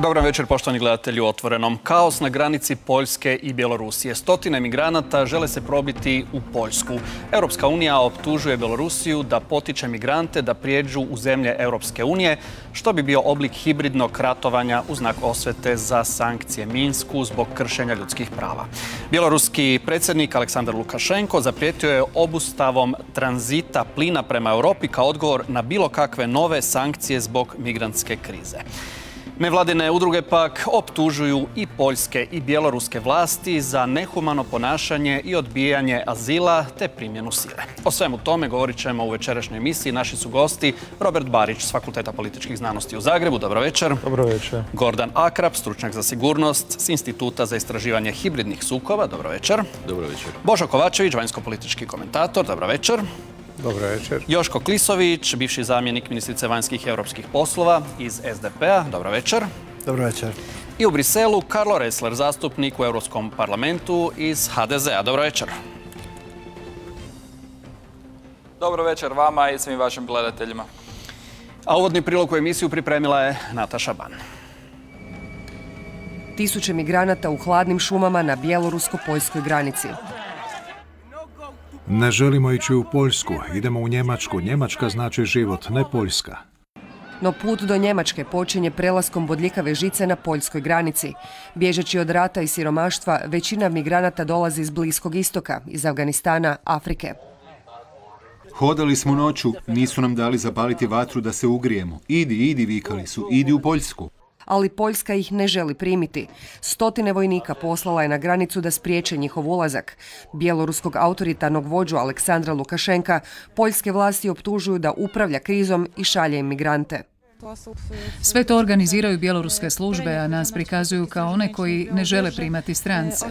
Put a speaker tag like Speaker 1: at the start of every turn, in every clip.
Speaker 1: Dobar večer, poštovani gledatelji u Otvorenom. Kaos na granici Poljske i Bjelorusije. Stotine migranata žele se probiti u Poljsku. Europska unija optužuje Bjelorusiju da potiče migrante da prijeđu u zemlje Europske unije, što bi bio oblik hibridnog ratovanja u znak osvete za sankcije Minsku zbog kršenja ljudskih prava. Bjeloruski predsjednik Aleksandar Lukašenko zaprijetio je obustavom tranzita plina prema Europi kao odgovor na bilo kakve nove sankcije zbog migrantske krize. Nevladine udruge pak optužuju i poljske i bjeloruske vlasti za nehumano ponašanje i odbijanje azila te primjenu sile. O svemu tome govorit ćemo u večerašnjoj emisiji. Naši su gosti Robert Barić s Fakulteta političkih znanosti u Zagrebu. Dobro večer. Dobro večer. Gordan Akrap, stručnjak za sigurnost s Instituta za istraživanje hibridnih sukoba. Dobro večer. Dobro večer. Božo Kovačević, vanjsko-politički komentator. Dobro večer.
Speaker 2: Dobro večer.
Speaker 1: Joško Klisović, bivši zamjenik ministrice vanjskih i europskih poslova iz SDP-a. Dobro večer.
Speaker 2: Dobro večer.
Speaker 1: I u Briselu Karlo Ressler, zastupnik u Europskom parlamentu iz HDZ-a. Dobro večer.
Speaker 3: Dobro večer vama i svim vašim gledateljima.
Speaker 1: A uvodni prilog u emisiju pripremila je Nataša Ban.
Speaker 4: Tisuće migranata u hladnim šumama na bjelorusko-poljskoj granici.
Speaker 2: Ne želimo ići u Poljsku, idemo u Njemačku. Njemačka znači život, ne Poljska.
Speaker 4: No put do Njemačke počinje prelaskom bodljikave žice na poljskoj granici. Bježeći od rata i siromaštva, većina migranata dolazi iz Bliskog istoka, iz Afganistana, Afrike.
Speaker 5: Hodali smo noću, nisu nam dali zapaliti vatru da se ugrijemo. Idi, vikali su, idi u Poljsku.
Speaker 4: Ali Poljska ih ne želi primiti. Stotine vojnika poslala je na granicu da spriječe njihov ulazak. Bjeloruskog autoritarnog vođu Aleksandra Lukašenka poljske vlasti optužuju da upravlja krizom i šalje imigrante.
Speaker 6: Sve to organiziraju bjeloruske službe, a nas prikazuju kao one koji ne žele primati strance.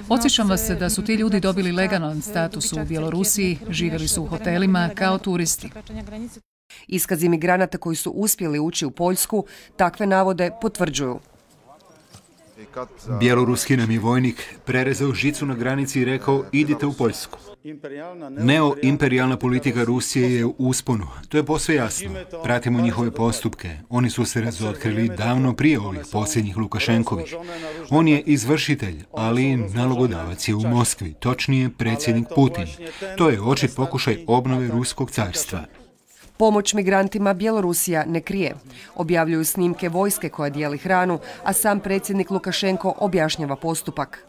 Speaker 6: Podsjećam vas da su ti ljudi dobili legalan status u Bjelorusiji, živjeli su u hotelima kao turisti.
Speaker 4: Iskazi migranata koji su uspjeli ući u Poljsku takve navode potvrđuju.
Speaker 5: Bjeloruski nam je vojnik prerezao žicu na granici i rekao idite u Poljsku. Neoimperijalna politika Rusije je u usponu. To je posve jasno. Pratimo njihove postupke. Oni su se razotkrili davno prije ovih posljednjih Lukašenkovih. On je izvršitelj, ali nalogodavac je u Moskvi, točnije predsjednik Putin. To je očit pokušaj obnove ruskog carstva.
Speaker 4: Pomoć migrantima Bjelorusija ne krije. Objavljuju snimke vojske koja dijeli hranu, a sam predsjednik Lukašenko objašnjava postupak.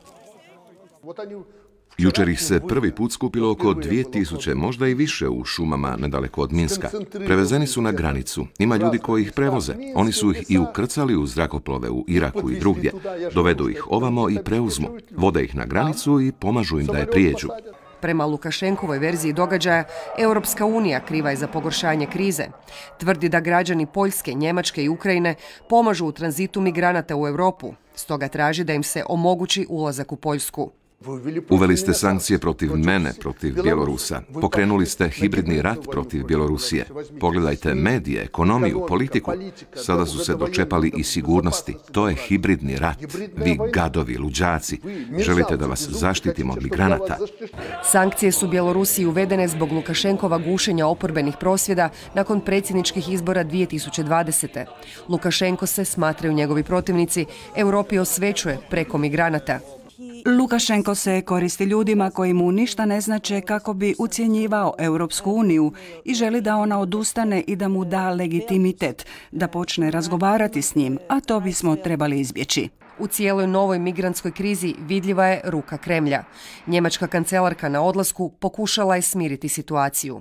Speaker 7: Jučer ih se prvi put skupilo oko 2000, možda i više u šumama nedaleko od Minska. Prevezeni su na granicu. Ima ljudi koji ih prevoze. Oni su ih i ukrcali u zrakoplove u Iraku i drugdje. Dovedu ih ovamo i preuzmu. Vode ih na granicu i pomažu im da je prijeđu.
Speaker 4: Prema Lukašenkovoj verziji događaja, Europska unija kriva je za pogoršanje krize. Tvrdi da građani Poljske, Njemačke i Ukrajine pomažu u tranzitu migranata u Europu. Stoga traži da im se omogući ulazak u Poljsku.
Speaker 7: Uveli ste sankcije protiv mene, protiv Bjelorusa. Pokrenuli ste hibridni rat protiv Bjelorusije. Pogledajte medije, ekonomiju, politiku. Sada su se dočepali i sigurnosti. To je hibridni rat. Vi gadovi, luđaci. Želite da vas zaštitimo od migranata.
Speaker 4: Sankcije su Bjelorusiji uvedene zbog Lukašenkova gušenja oporbenih prosvjeda nakon predsjedničkih izbora 2020. Lukašenko se, smatraju njegovi protivnici, Europi osvećuje preko migranata.
Speaker 8: Lukašenko se koristi ljudima koji mu ništa ne znače kako bi ucjenjivao Europsku uniju i želi da ona odustane i da mu da legitimitet, da počne razgovarati s njim, a to bismo trebali izbjeći.
Speaker 4: U cijeloj novoj migrantskoj krizi vidljiva je ruka Kremlja. Njemačka kancelarka na odlasku pokušala je smiriti situaciju.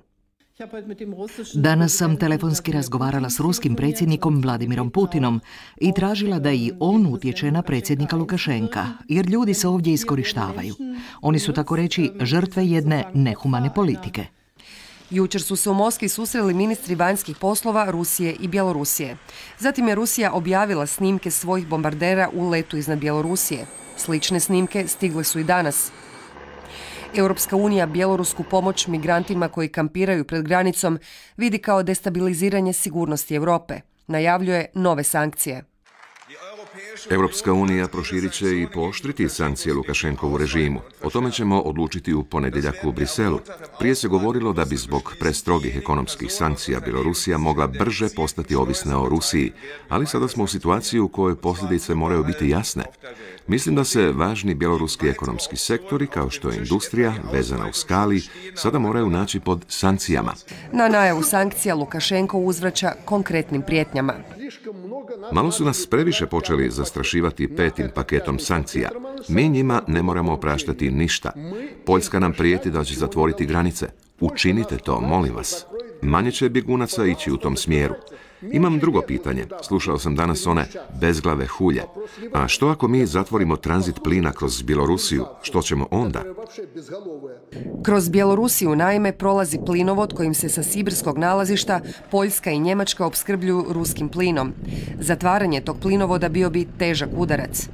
Speaker 9: Danas sam telefonski razgovarala s ruskim predsjednikom Vladimirom Putinom i tražila da i on utječe na predsjednika Lukašenka, jer ljudi se ovdje iskorištavaju. Oni su, tako reći, žrtve jedne nehumane politike.
Speaker 4: Jučer su se u Moskvi susreli ministri vanjskih poslova Rusije i Bjelorusije. Zatim je Rusija objavila snimke svojih bombardera u letu iznad Bjelorusije. Slične snimke stigle su i danas. Europska unija bjelorusku pomoć migrantima koji kampiraju pred granicom vidi kao destabiliziranje sigurnosti Europe. Najavljuje nove sankcije.
Speaker 7: Europska unija proširit će i pooštriti sankcije Lukašenkovu režimu. O tome ćemo odlučiti u ponedjeljak u Briselu. Prije se govorilo da bi zbog prestrogih ekonomskih sankcija Bjelorusija mogla brže postati ovisna o Rusiji, ali sada smo u situaciji u kojoj posljedice moraju biti jasne. Mislim da se važni bjeloruski ekonomski sektori, kao što je industrija, vezana uz Kali, sada moraju naći pod sankcijama.
Speaker 4: Na najavu sankcija Lukašenko uzvraća konkretnim prijetnjama.
Speaker 7: Malo su nas previše počeli zastrašivati 5. paketom sankcija. Mi njima ne moramo opraštati ništa. Poljska nam prijeti da će zatvoriti granice. Učinite to, molim vas. Manje će bjegunaca ići u tom smjeru. Imam drugo pitanje. Slušao sam danas one bezglave hulje. A što ako mi zatvorimo tranzit plina kroz Bjelorusiju? Što ćemo onda?
Speaker 4: Kroz Bjelorusiju naime prolazi plinovod kojim se sa sibirskog nalazišta Poljska i Njemačka opskrbljuju ruskim plinom. Zatvaranje tog plinovoda bio bi težak udarac.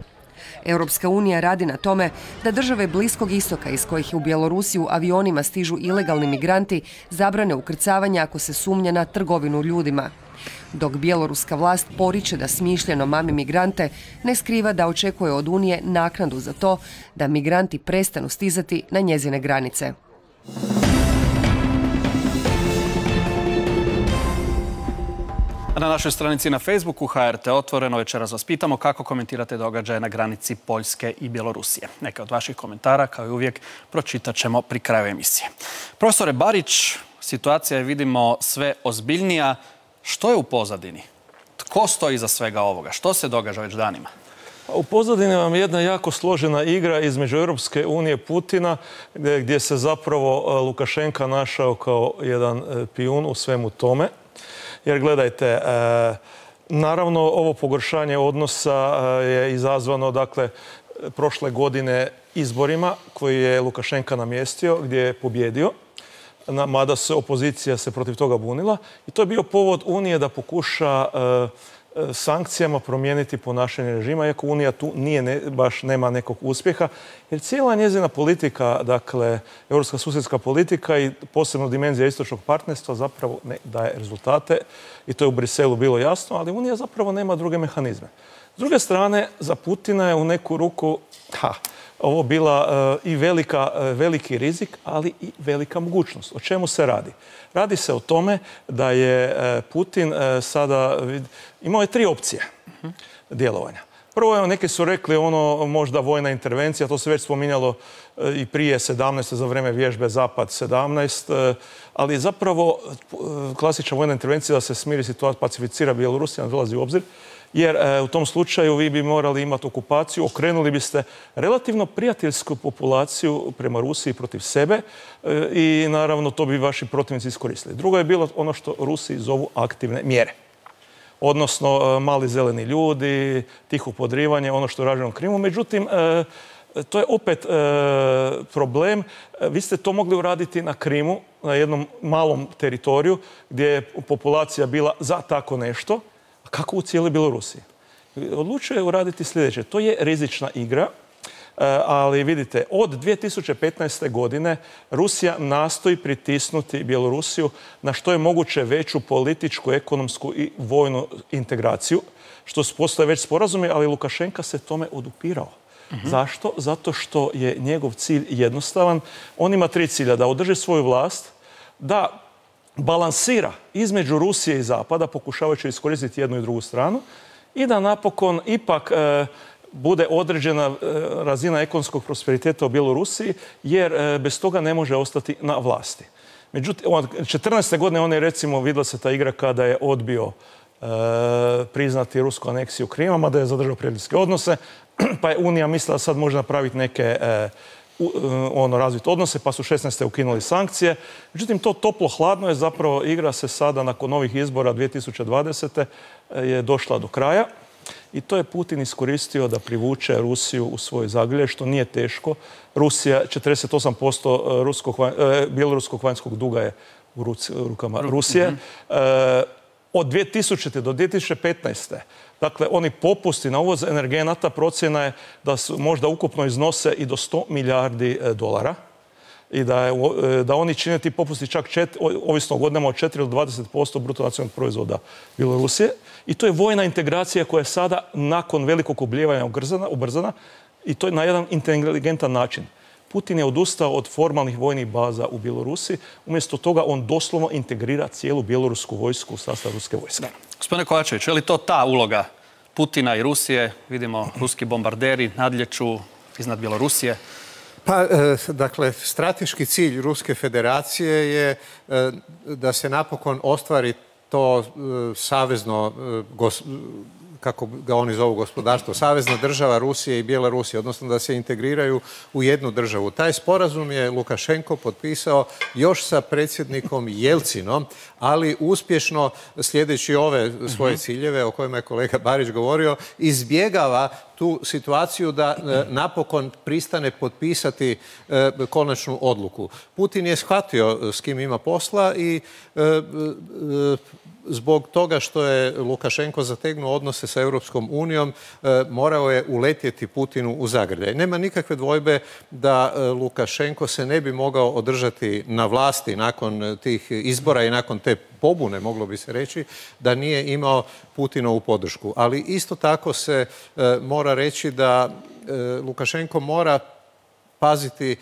Speaker 4: Europska unija radi na tome da države Bliskog istoka iz kojih u Bjelorusiju avionima stižu ilegalni migranti zabrane ukrcavanja ako se sumnja na trgovinu ljudima. Dok bjeloruska vlast poriče da smišljeno mami migrante, ne skriva da očekuje od Unije naknadu za to da migranti prestanu stizati na njezine granice.
Speaker 1: Na našoj stranici na Facebooku HRT Otvoreno večeras vas pitamo kako komentirate događaje na granici Poljske i Bjelorusije. Neke od vaših komentara, kao i uvijek, pročitat ćemo pri kraju emisije. Profesore Barić, situacija je, vidimo, sve ozbiljnija. Što je u pozadini? Tko stoji iza svega ovoga? Što se događa već danima?
Speaker 10: U pozadini vam je jedna jako složena igra između Europske unije i Putina, gdje se zapravo Lukašenka našao kao jedan pijun u svemu tome. Jer gledajte, naravno ovo pogoršanje odnosa je izazvano, dakle, prošle godine izborima koji je Lukašenka namjestio, gdje je pobjedio, mada se opozicija se protiv toga bunila. I to je bio povod Unije da pokuša sankcijama promijeniti ponašanje režima, iako Unija tu baš nema nekog uspjeha, jer cijela njezina politika, dakle, europska susjedska politika i posebno dimenzija istočnog partnerstva zapravo ne daje rezultate i to je u Briselu bilo jasno, ali Unija zapravo nema druge mehanizme. S druge strane, za Putina je u neku ruku ovo bila i veliki rizik, ali i velika mogućnost. O čemu se radi? Radi se o tome da je Putin sada imao je 3 opcije djelovanja. Prvo, neki su rekli možda vojna intervencija, to se već spominjalo i prije 17. za vrijeme vježbe Zapad 17. Ali zapravo klasična vojna intervencija da se smiri situacija, pacificira Bjelorusija, ne dolazi u obzir. Jer u tom slučaju vi bi morali imati okupaciju, okrenuli biste relativno prijateljsku populaciju prema Rusiji protiv sebe i naravno to bi vaši protivnici iskoristili. Drugo je bilo ono što Rusi zovu aktivne mjere. Odnosno mali zeleni ljudi, tiho podrivanje, ono što je rađeno u Krimu. Međutim, to je opet problem. Vi ste to mogli uraditi na Krimu, na jednom malom teritoriju gdje je populacija bila za tako nešto. Kako u cijeloj Bjelorusiji? Odlučio je uraditi sljedeće. To je rizična igra, ali vidite, od 2015. godine Rusija nastoji pritisnuti Bjelorusiju na što je moguće veću političku, ekonomsku i vojnu integraciju, što postoje već sporazumi, ali Lukašenka se tome odupirao. Zašto? Zato što je njegov cilj jednostavan. On ima 3 cilja. Da održi svoju vlast, da balansira između Rusije i Zapada, pokušavajući iskoristiti jednu i drugu stranu, i da napokon ipak bude određena razina ekonomskog prosperiteta u Bjelorusiji, jer bez toga ne može ostati na vlasti. Međutim, 14. godine on je, recimo, vidjela se ta igra kada je odbio priznati rusku aneksiju Krima, mada je zadržao prijateljske odnose, pa je Unija mislila sad može napraviti neke razviti odnose, pa su 16. ukinuli sankcije. Međutim, to toplo-hladno je zapravo igra se sada nakon novih izbora 2020. je došla do kraja i to je Putin iskoristio da privuče Rusiju u svoj zagrljaj, što nije teško. Rusija, 48% bjeloruskog vanjskog duga je u rukama Rusije. Od 2000. do 2015. Dakle, oni popusti na uvoz energenata procjena je da su možda ukupno iznose i do 100 milijardi dolara. i da oni čine ti popusti čak ovisno o godinama od 4 do 20% bruto nacionalnog proizvoda Bjelorusije. I to je vojna integracija koja je sada nakon velikog oblijevanja ubrzana i to je na jedan inteligentan način. Putin je odustao od formalnih vojnih baza u Bjelorusiji. Umjesto toga on doslovno integrira cijelu bjelorusku vojsku u sastav ruske vojske.
Speaker 1: Gospodine Kovačević, je li to ta uloga Putina i Rusije? Vidimo, ruski bombarderi nadljeću iznad Bjelorusije.
Speaker 11: Pa, dakle, strateški cilj Ruske federacije je da se napokon ostvari to savezno, kako ga oni zovu, gospodarstvo, savezna država Rusije i Bjelorusije, odnosno da se integriraju u jednu državu. Taj sporazum je Lukašenko potpisao još sa predsjednikom Jelcinom, ali uspješno, sljedeći ove svoje ciljeve o kojima je kolega Barić govorio, izbjegava tu situaciju da napokon pristane potpisati konačnu odluku. Putin je shvatio s kim ima posla i zbog toga što je Lukašenko zategnuo odnose sa Europskom unijom, morao je uletjeti Putinu u zagrljaj. Nema nikakve dvojbe da Lukašenko se ne bi mogao održati na vlasti nakon tih izbora i nakon te pobune, moglo bi se reći, da nije imao Putinovu podršku. Ali isto tako se mora reći da Lukašenko mora paziti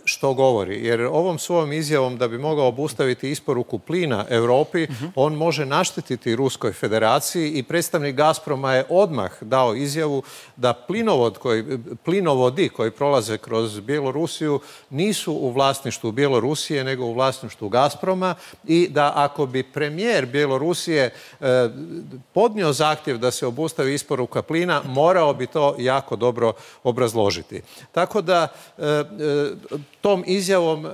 Speaker 11: što govori. Jer ovom svojom izjavom da bi mogao obustaviti isporuku plina Europi, on može naštetiti Ruskoj federaciji i predstavnik Gazproma je odmah dao izjavu da plinovodi koji prolaze kroz Bjelorusiju nisu u vlasništvu Bjelorusije nego u vlasništvu Gazproma i da ako bi premijer Bjelorusije podnio zahtjev da se obustavi isporuka plina, morao bi to jako dobro obrazložiti. Tako da tom izjavom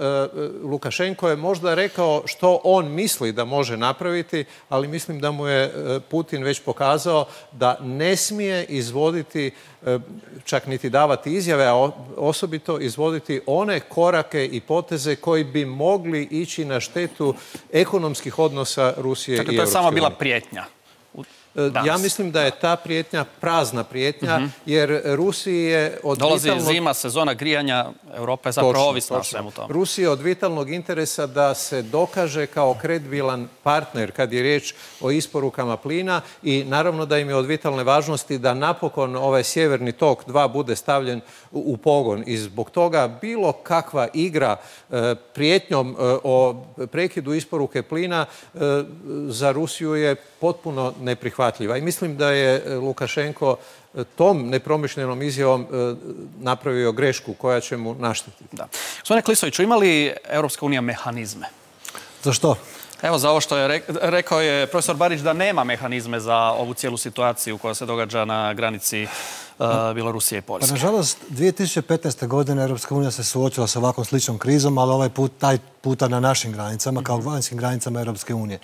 Speaker 11: Lukašenko je možda rekao što on misli da može napraviti, ali mislim da mu je Putin već pokazao da ne smije izvoditi, čak niti davati izjave, a osobito izvoditi one korake i poteze koji bi mogli ići na štetu ekonomskih odnosa Rusije i Europske unije.
Speaker 1: Dakle, to je samo bila prijetnja.
Speaker 11: Ja mislim da je ta prijetnja prazna prijetnja, jer Rusiji je od
Speaker 1: dolazi zima, sezona grijanja, Europa je zapravo ovisna o svemu tome.
Speaker 11: Rusiji je od vitalnog interesa da se dokaže kao kredibilan partner kad je riječ o isporukama plina i naravno da im je od vitalne važnosti da napokon ovaj sjeverni tok 2 bude stavljen u pogon. I zbog toga bilo kakva igra prijetnjom o prekidu isporuke plina za Rusiju je potpuno neprihvatljiva. I mislim da je Lukašenko tom nepromišljenom izjavom napravio grešku koja će mu naštetiti.
Speaker 1: Gospodine Klisoviću, ima li Europska unija mehanizme?
Speaker 12: Za što?
Speaker 1: Evo, za ovo što je rekao je profesor Barić da nema mehanizme za ovu cijelu situaciju koja se događa na granici Bjelorusije i Poljske.
Speaker 12: Pa, nažalost, 2015. godine Europska unija se suočila sa ovakvom sličnom krizom, ali taj puta na našim granicama, kao vanjskim granicama Europske unije.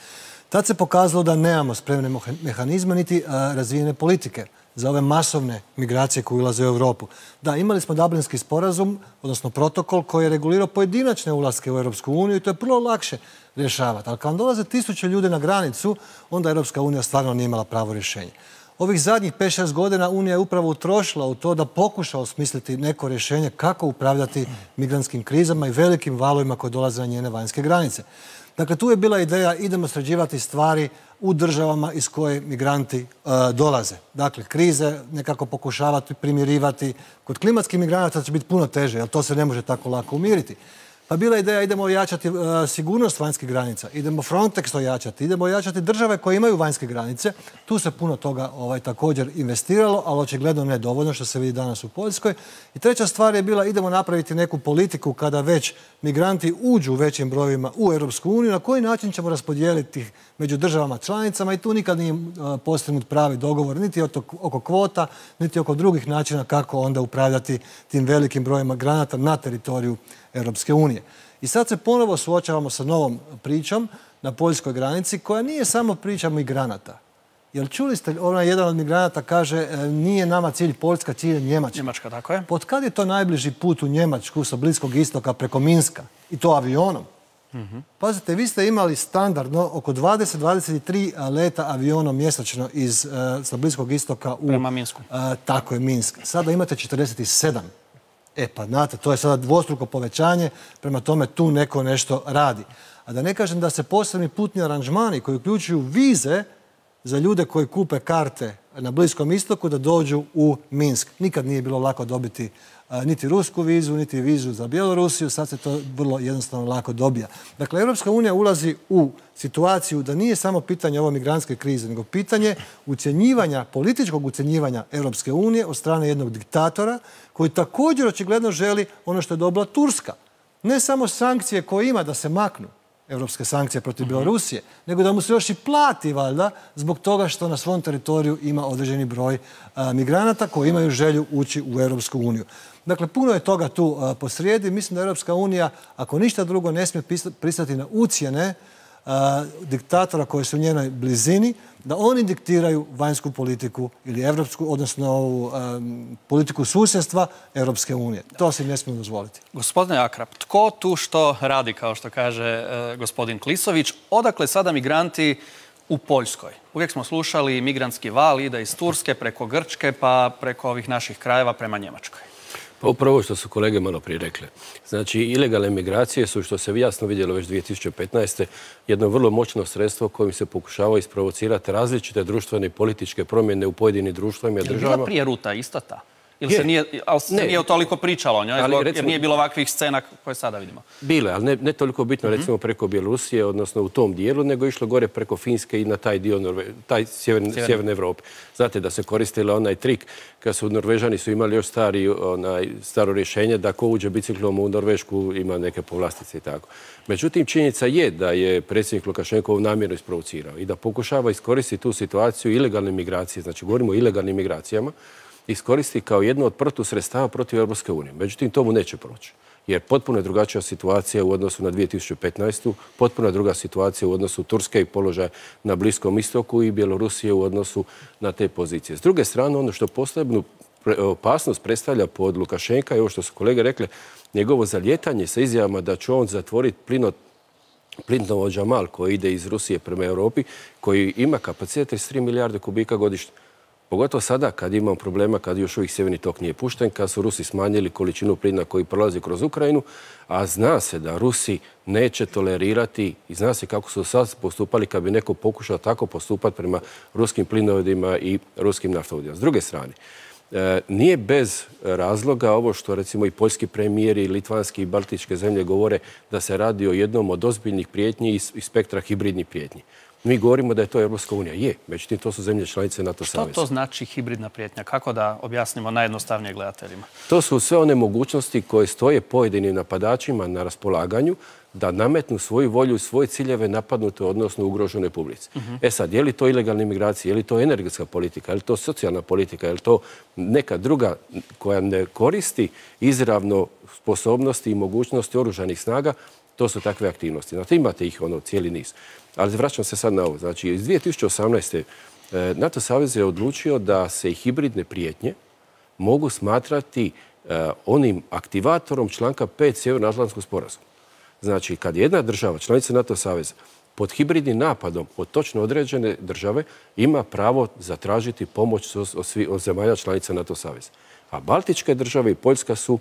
Speaker 12: Tad se pokazalo da nemamo spremne mehanizme niti razvijene politike za ove masovne migracije koje ulaze u Europu. Da, imali smo Dublinski sporazum, odnosno protokol koji je regulirao pojedinačne ulaske u Europsku uniju i to je prvo lakše rješavati. Ali kad vam dolaze 1000 ljudi na granicu, onda Europska unija stvarno nije imala pravo rješenje. Ovih zadnjih 5-6 godina Unija je upravo utrošila u to da pokuša osmisliti neko rješenje kako upravljati migrantskim krizama i velikim valovima koji dolaze na njene vanjske granice. Dakle, tu je bila ideja idemo sređivati stvari u državama iz koje migranti dolaze. Dakle, krize nekako pokušavati primirivati. Kod klimatskih migranata će biti puno teže, jer to se ne može tako lako umiriti. Pa bila ideja idemo ojačati sigurnost vanjskih granica, idemo Frontex ojačati, idemo ojačati države koje imaju vanjske granice. Tu se puno toga također investiralo, ali očigledno ne dovoljno što se vidi danas u Poljskoj. I treća stvar je bila idemo napraviti neku politiku kada već migranti uđu u većim brojevima u Europsku uniju, na koji način ćemo raspodijeliti ih među državama članicama i tu nikad nije postignut pravi dogovor niti oko kvota, niti oko drugih načina kako onda upravljati tim velikim brojima migranata na teritoriju Europske unije. I sad se ponovo suočavamo sa novom pričom na poljskoj granici koja nije samo priča migranata. Jer čuli ste, jedan od migranata kaže nije nama cilj Poljska, cilj je Njemačka.
Speaker 1: Njemačka, tako je.
Speaker 12: Pod kad je to najbliži put u Njemačku sa Bliskog istoka preko Minska? I to avionom. Pazite, vi ste imali standardno oko 20-23 leta avionom mjesečno sa Bliskog istoka u...
Speaker 1: Prema Minsku.
Speaker 12: Tako je, Minsk. Sada imate 47. Pa znate, to je sada dvostruko povećanje, prema tome tu neko nešto radi. A da ne kažem da se posebni putni aranžmani koji uključuju vize za ljude koji kupe karte na Bliskom istoku da dođu u Minsk. Nikad nije bilo lako dobiti niti rusku vizu, niti vizu za Bjelorusiju, sad se to vrlo jednostavno lako dobija. Dakle, Europska unija ulazi u situaciju da nije samo pitanje ove migrantske krize, nego pitanje ucjenjivanja, političkog ucjenjivanja Europske unije od strane jednog diktatora koji također očigledno želi ono što je dobila Turska. Ne samo sankcije koje ima da se maknu, europske sankcije protiv Bjelorusije, nego da mu se još i plati, valjda, zbog toga što na svom teritoriju ima određeni broj migranata koji imaju želju ući u Europsku uniju. Dakle, puno je toga tu posrijedi. Mislim da Europska unija, ako ništa drugo, ne smije pristati na ucjene diktatora koji su u njenoj blizini, da oni diktiraju vanjsku politiku ili evropsku, odnosno politiku susjedstva Europske unije. To si ne smijemo dozvoliti.
Speaker 1: Gospodine Akrap, tko tu što radi, kao što kaže gospodin Klisović? Odakle sada migranti u Poljskoj? Uvijek smo slušali migrantski val ide iz Turske preko Grčke pa preko ovih naših krajeva prema Njemačkoj.
Speaker 13: Pa upravo što su kolege malo prije rekle. Znači, ilegalne migracije su, što se jasno vidjelo već 2015. jedno vrlo moćno sredstvo kojim se pokušava isprovocirati različite društvene i političke promjene u pojedinim društvima i državama.
Speaker 1: Je bila prije ruta ista ta? Ili se nije toliko pričalo o njoj, jer nije bilo ovakvih scena koje sada vidimo?
Speaker 13: Bile, ali ne toliko bitno, recimo preko Bjelorusije, odnosno u tom dijelu, nego išlo gore preko Finske i na taj dio taj sjeverne Evrope. Znate da se koristila onaj trik kad su Norvežani su imali još staro rješenje da ko uđe biciklom u Norvešku ima neke povlastice i tako. Međutim, činjenica je da je predsjednik Lukašenko namjerno isprovocirao i da pokušava iskoristiti tu situaciju ilegalne migracije, znači govorimo o ilegalnim migracijama, iskoristi kao jedno od protusredstava protiv Europske unije. Međutim, tomu neće proći. Jer potpuno je drugačija situacija u odnosu na 2015. Potpuno je druga situacija u odnosu Turske i položaja na Bliskom istoku i Bjelorusije u odnosu na te pozicije. S druge strane, ono što posebnu opasnost predstavlja pod Lukašenka i ovo što su kolege rekle, njegovo zalijetanje sa izjavama da će on zatvoriti plinovod Jamal koji ide iz Rusije prema Europi, koji ima kapacitet 33 milijarde kubika godišnje. Pogotovo sada kad imamo problema, kad još uvijek sjeverni tok nije pušten, kad su Rusi smanjili količinu plina koji prolazi kroz Ukrajinu, a zna se da Rusi neće tolerirati i zna se kako su sad postupali kad bi neko pokušao tako postupati prema ruskim plinovodima i ruskim naftovodima. S druge strane, nije bez razloga ovo što recimo i poljski premijeri, litvanski i baltičke zemlje govore da se radi o jednom od ozbiljnih prijetnji iz spektra hibridnih prijetnji. Mi govorimo da je to Europska unija. Je, međutim, to su zemlje članice NATO saveza.
Speaker 1: Što to znači hibridna prijetnja? Kako da objasnimo najjednostavnije gledateljima?
Speaker 13: To su sve one mogućnosti koje stoje pojedinim napadačima na raspolaganju da nametnu svoju volju i svoje ciljeve napadnute, odnosno ugroženoj publici. Sad, je li to ilegalne migracije, je li to energetska politika, je li to socijalna politika, je li to neka druga koja ne koristi izravno sposobnosti i mogućnosti oružanih snaga, to su takve aktivnosti. Znate, imate ih cijeli niz. Ali vraćam se sad na ovo. Znači, iz 2018. NATO savez je odlučio da se i hibridne prijetnje mogu smatrati onim aktivatorom članka 5 Sjevernoatlantskog sporazuma. Znači, kad jedna država, članica NATO saveza, pod hibridnim napadom od točno određene države ima pravo zatražiti pomoć od zemalja članica NATO saveza. A Baltičke države i Poljska su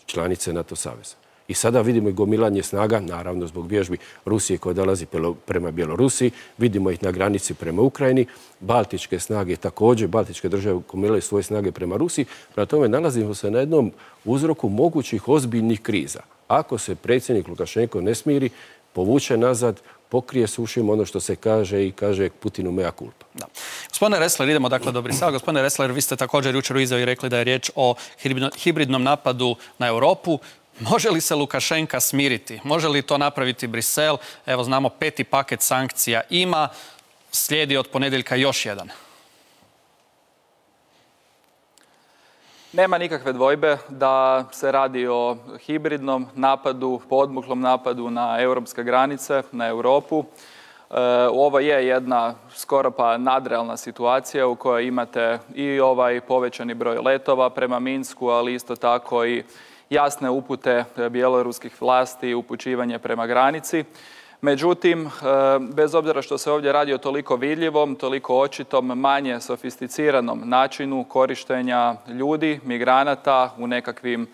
Speaker 13: članice NATO saveza. I sada vidimo i gomilanje snaga, naravno zbog vježbi Rusije koja dolazi prema Bjelorusiji, vidimo ih na granici prema Ukrajini, baltičke snage također, baltičke države gomilaju svoje snage prema Rusiji, prema tome nalazimo se na jednom uzroku mogućih ozbiljnih kriza. Ako se predsjednik Lukašenko ne smiri, povuče nazad, pokrije s ušima ono što se kaže i kaže Putinu mea culpa.
Speaker 1: Gospodine Ressler, idemo dakle do Brisela. Gospodine Ressler, vi ste također jučer u izjavi rekli da je riječ o hibridnom napadu na Europu. Može li se Lukašenka smiriti? Može li to napraviti Brisel? Evo, znamo 5. paket sankcija ima. Slijedi od ponedjeljka još jedan.
Speaker 3: Nema nikakve dvojbe da se radi o hibridnom napadu, podmuklom napadu na europske granice, na Europu. Ovo je jedna skoro pa nadrealna situacija u kojoj imate i ovaj povećani broj letova prema Minsku, ali isto tako i jasne upute bjeloruskih vlasti i upućivanje prema granici. Međutim, bez obzira što se ovdje radi o toliko vidljivom, toliko očitom, manje sofisticiranom načinu korištenja ljudi, migranata u nekakvim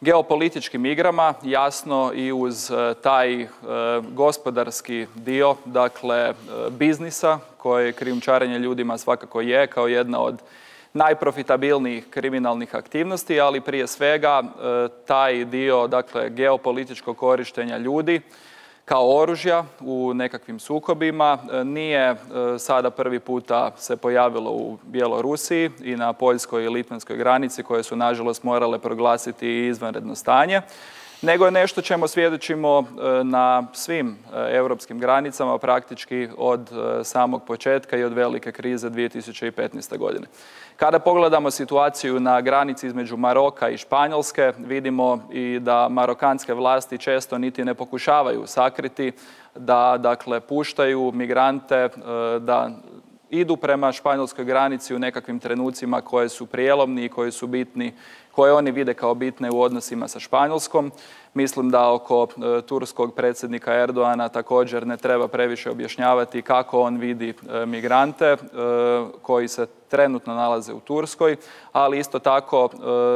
Speaker 3: geopolitičkim igrama, jasno i uz taj gospodarski dio, dakle biznisa, koje krijumčarenje ljudima svakako je kao jedna od najprofitabilnijih kriminalnih aktivnosti, ali prije svega taj dio, dakle, geopolitičkog korištenja ljudi kao oružja u nekakvim sukobima nije sada prvi puta se pojavilo u Bjelorusiji i na poljskoj i litvanskoj granici, koje su nažalost morale proglasiti izvanredno stanje, nego je nešto čemu svjedočimo na svim europskim granicama praktički od samog početka i od velike krize 2015. godine. Kada pogledamo situaciju na granici između Maroka i Španjolske, vidimo i da marokanske vlasti često niti ne pokušavaju sakriti da, dakle, puštaju migrante da idu prema španjolskoj granici u nekakvim trenucima koje su prijelomni i koji su bitni, koje oni vide kao bitne u odnosima sa Španjolskom. Mislim da oko turskog predsjednika Erdoana također ne treba previše objašnjavati kako on vidi migrante koji se trenutno nalaze u Turskoj, ali isto tako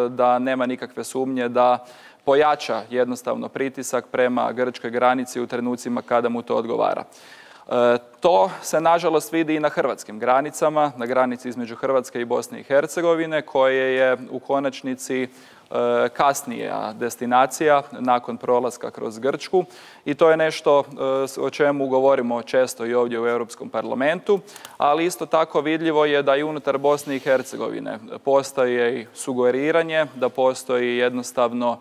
Speaker 3: da nema nikakve sumnje da pojača jednostavno pritisak prema grčkoj granici u trenucima kada mu to odgovara. To se nažalost vidi i na hrvatskim granicama, na granici između Hrvatske i Bosne i Hercegovine, koje je u konačnici kasnija destinacija nakon prolaska kroz Grčku, i to je nešto o čemu govorimo često i ovdje u Europskom parlamentu, ali isto tako vidljivo je da i unutar Bosne i Hercegovine postoji i sugeriranje, da postoji jednostavno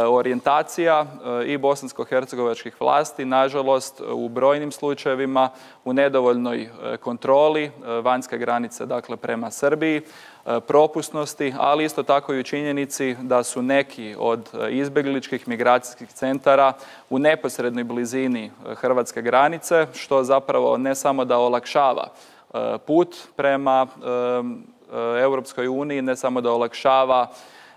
Speaker 3: orijentacija i bosansko-hercegovačkih vlasti, nažalost, u brojnim slučajevima u nedovoljnoj kontroli vanjske granice, dakle prema Srbiji, propusnosti, ali isto tako i u činjenici da su neki od izbjegličkih migracijskih centara u neposrednoj blizini hrvatske granice, što zapravo ne samo da olakšava put prema Europskoj uniji, ne samo da olakšava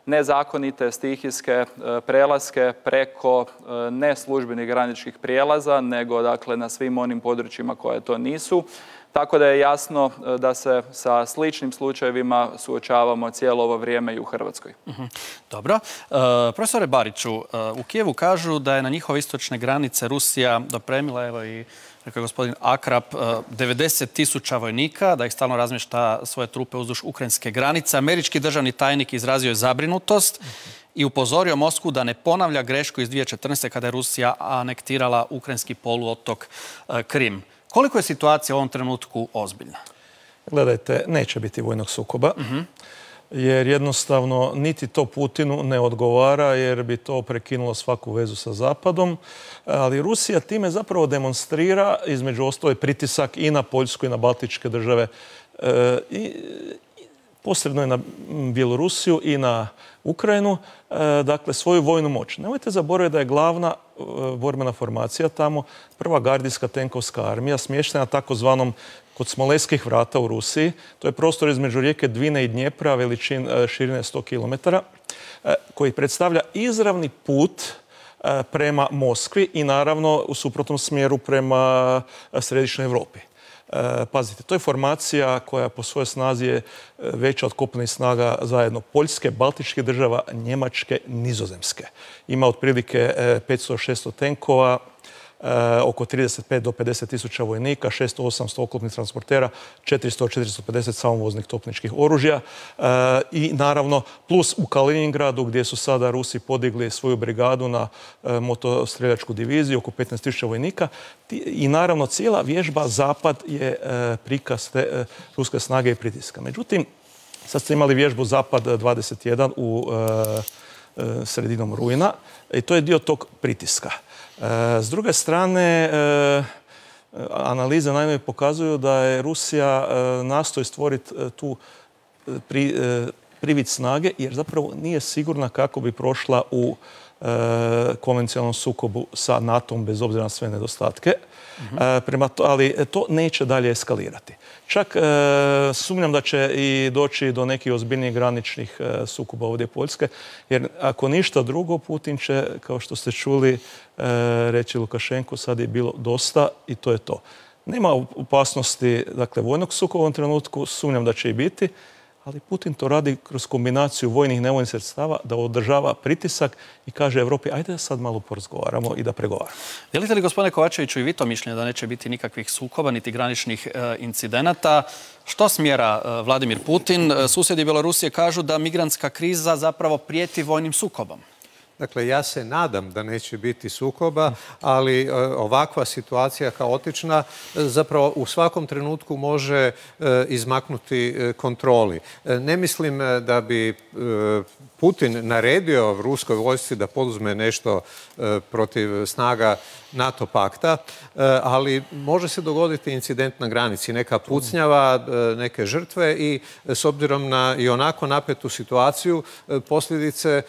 Speaker 3: nezakonite stihijske prelaske preko neslužbenih graničnih prijelaza, nego, dakle, na svim onim područjima koje to nisu. Tako da je jasno da se sa sličnim slučajevima suočavamo cijelo ovo vrijeme i u Hrvatskoj.
Speaker 1: Dobro. Profesore Bariću, u Kijevu kažu da je na njihove istočne granice Rusija dopremila, evo i rekao je gospodin Akrap, 90.000 vojnika, da ih stalno razmješta svoje trupe uzduž ukrajinske granice. Američki državni tajnik izrazio je zabrinutost i upozorio Moskvu da ne ponavlja grešku iz 2014. kada je Rusija anektirala ukrajinski poluotok Krim. Koliko je situacija u ovom trenutku ozbiljna?
Speaker 10: Gledajte, neće biti vojnog sukoba, jer jednostavno niti to Putinu ne odgovara, jer bi to prekinulo svaku vezu sa Zapadom. Ali Rusija time zapravo demonstrira, između ostalog, pritisak i na Poljsku i na Baltičke države, posredno i na Bjelorusiju i na Ukrajinu, dakle svoju vojnu moć. Nemojte zaboraviti da je glavna borbena formacija tamo prva gardijska tenkovska armija, smještena takozvanom kod Smoleskih vrata u Rusiji. To je prostor između rijeke Dvine i Dnjepra, širine 100 km, koji predstavlja izravni put prema Moskvi i naravno u suprotnom smjeru prema središnjoj Europi. Pazite, to je formacija koja po svojoj snazi je veća od kopnenih snaga zajedno Poljske, Baltičkih država, Njemačke, Nizozemske. Ima otprilike 500-600 tenkova, oko 35 do 50 tisuća vojnika, 600-800 oklopnih transportera, 400-450 samovoznih topničkih oružja i naravno plus u Kaliningradu gdje su sada Rusi podigli svoju brigadu na motostreljačku diviziju, oko 15 tisuća vojnika i naravno cijela vježba Zapad je prikaz te ruske snage i pritiska. Međutim, sad ste imali vježbu Zapad 21 u sredinom rujna i to je dio tog pritiska. S druge strane, analize najnovije pokazuju da je Rusija nastoji stvoriti tu privid snage jer zapravo nije sigurna kako bi prošla u konvencionalnom sukobu sa NATO-om bez obzira na sve nedostatke. Ali to neće dalje eskalirati. Čak sumnjam da će i doći do nekih ozbiljnijih graničnih sukoba ovdje Poljske, jer ako ništa drugo, Putin će, kao što ste čuli, reći Lukašenku, sad je bilo dosta i to je to. Nema opasnosti, dakle, vojnog sukoba u ovom trenutku, sumnjam da će i biti, ali Putin to radi kroz kombinaciju vojnih i nevojnih sredstava da održava pritisak i kaže Evropi, ajde da sad malo porazgovaramo i da pregovaramo.
Speaker 1: Dijelite li, gospodine Kovačeviću, i vi to mišljenje da neće biti nikakvih sukoba niti graničnih incidenata? Što smjera Vladimir Putin? Susjedi Bjelorusije kažu da migrantska kriza zapravo prijeti vojnim sukobom.
Speaker 11: Dakle, ja se nadam da neće biti sukoba, ali ovakva situacija kaotična zapravo u svakom trenutku može izmaknuti kontroli. Ne mislim da bi Putin naredio ruskoj vojsci da poduzme nešto protiv snaga NATO pakta, ali može se dogoditi incident na granici, neka pucnjava, neke žrtve i s obzirom na i onako napetu situaciju posljedice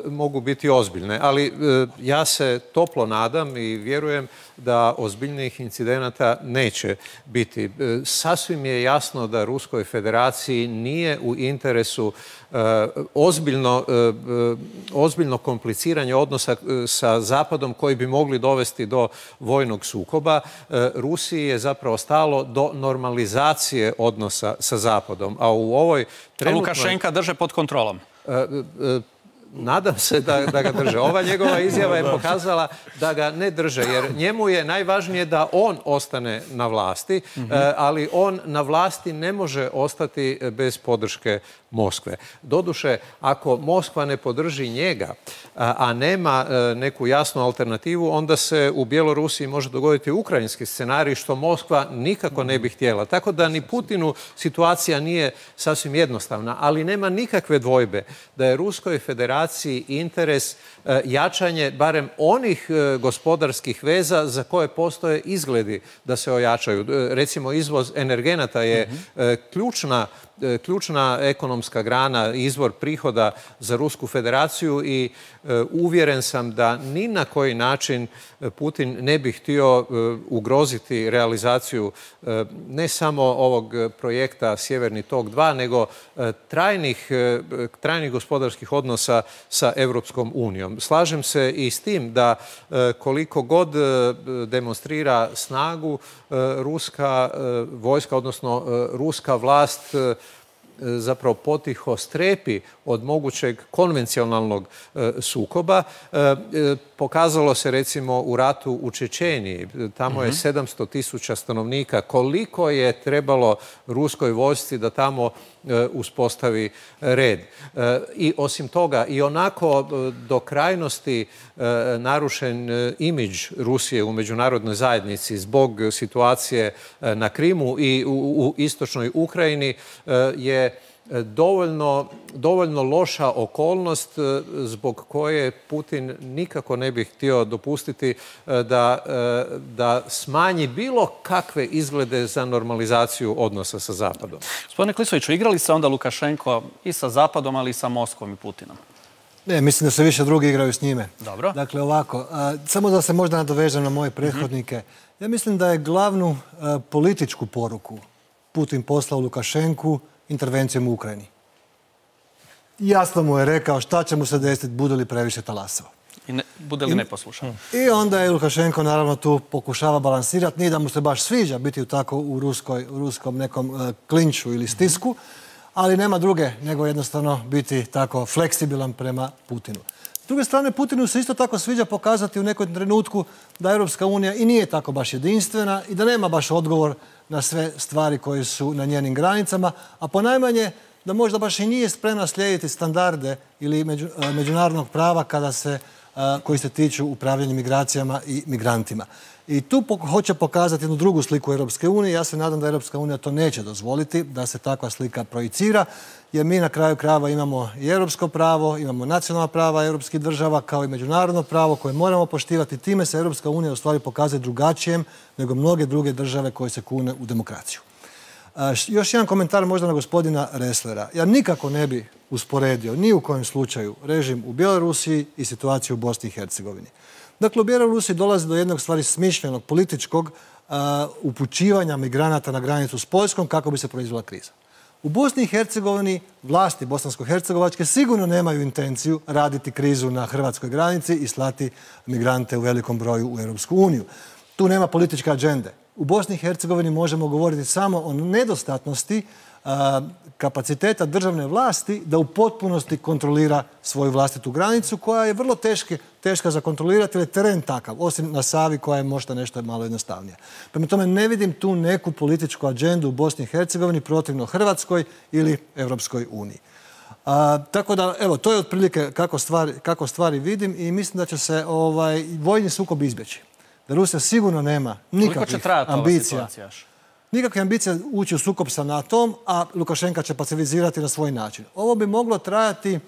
Speaker 11: mogu biti ozbiljne. Ali ja se toplo nadam i vjerujem da ozbiljnijih incidenata neće biti. Sasvim je jasno da Ruskoj federaciji nije u interesu ozbiljno kompliciranje odnosa sa Zapadom koji bi mogli dovesti do vojnog sukoba. Rusiji je zapravo stalo do normalizacije odnosa sa Zapadom. A u ovoj trenutnoj...
Speaker 1: A Lukašenka drže pod kontrolom.
Speaker 11: Nadam se da ga drže. Ova njegova izjava je pokazala da ga ne drže, jer njemu je najvažnije da on ostane na vlasti, ali on na vlasti ne može ostati bez podrške Moskve. Doduše, ako Moskva ne podrži njega, a nema neku jasnu alternativu, onda se u Bjelorusiji može dogoditi ukrajinski scenarij, što Moskva nikako ne bi htjela. Tako da ni Putinu situacija nije sasvim jednostavna, ali nema nikakve dvojbe da je Ruskoj federaciji interes jačanje barem onih gospodarskih veza za koje postoje izgledi da se ojačaju. Recimo, izvoz energenata je ključna ekonomska grana, izvor prihoda za Rusku federaciju i uvjeren sam da ni na koji način Putin ne bi htio ugroziti realizaciju ne samo ovog projekta Sjeverni tok 2, nego trajnih gospodarskih odnosa sa Europskom unijom. Slažem se i s tim da koliko god demonstrira snagu ruska vojska, odnosno ruska vlast zapravo potiho strepi od mogućeg konvencionalnog sukoba. Pokazalo se recimo u ratu u Čečeniji. Tamo je 700.000 stanovnika. Koliko je trebalo ruskoj vojsci da tamo uspostavi red. I osim toga, i onako do krajnosti narušen imidž Rusije u međunarodnoj zajednici zbog situacije na Krimu i u istočnoj Ukrajini je dovoljno loša okolnost zbog koje Putin nikako ne bi htio dopustiti da smanji bilo kakve izglede za normalizaciju odnosa sa Zapadom.
Speaker 1: Gospodine Klisoviću, igrali se onda Lukašenko i sa Zapadom, ali i sa Moskvom i Putinom?
Speaker 12: Ne, mislim da se više drugi igraju s njime.
Speaker 1: Dobro.
Speaker 12: Dakle, ovako, samo da se možda nadovežem na moje prethodnike. Ja mislim da je glavnu političku poruku Putin poslao Lukašenku intervencijom u Ukrajini. Jasno mu je rekao šta će mu se desiti, bude li previše talasao.
Speaker 1: I bude li neposlušan.
Speaker 12: I onda je Lukašenko naravno tu pokušava balansirati. Nije da mu se baš sviđa biti tako u ruskom nekom klinču ili stisku, ali nema druge nego jednostavno biti tako fleksibilan prema Putinu. S druge strane, Putinu se isto tako sviđa pokazati u nekom trenutku da Europska unija i nije tako baš jedinstvena i da nema baš odgovor na sve stvari koje su na njenim granicama, a ponajmanje da možda baš i nije spremna slijediti standarde ili međunarodnog prava koji se tiču upravljanja migracijama i migrantima. I tu hoće pokazati jednu drugu sliku Europske unije. Ja se nadam da Europska unija to neće dozvoliti, da se takva slika projicira, jer mi na kraju krajeva imamo i europsko pravo, imamo nacionalna prava europskih država, kao i međunarodno pravo koje moramo poštivati. Time se Europska unija u stvari pokazuje drugačijem nego mnoge druge države koje se kune u demokraciju. Još jedan komentar možda na gospodina Resslera. Ja nikako ne bi usporedio ni u kojem slučaju režim u Bjelorusiji i situaciju u Bosni i Hercegovini. Dakle, u Bjelorusiji dolazi do jednog stvari smišljenog političkog upućivanja migranata na granicu s Poljskom kako bi se proizvela kriza. U Bosni i Hercegovini vlasti bosansko-hercegovačke sigurno nemaju intenciju raditi krizu na hrvatskoj granici i slati migrante u velikom broju u Europsku uniju. Tu nema političke agende. U Bosni i Hercegovini možemo govoriti samo o nedostatnosti kapaciteta državne vlasti da u potpunosti kontrolira svoju vlastitu granicu koja je vrlo teška za kontrolirati jer je teren takav, osim na Savi koja je možda nešto malo jednostavnija. Prema tome ne vidim tu neku političku agendu u Bosni i Hercegovini protivno Hrvatskoj ili Europskoj uniji. Tako da, evo, to je otprilike kako stvari vidim i mislim da će se vojni sukob izbjeći. Da Rusija sigurno nema nikakvih ambicija. Nikakve ambicije ući u sukob sa NATO-om, a Lukašenka će pasivizirati na svoj način. Ovo bi moglo trajati,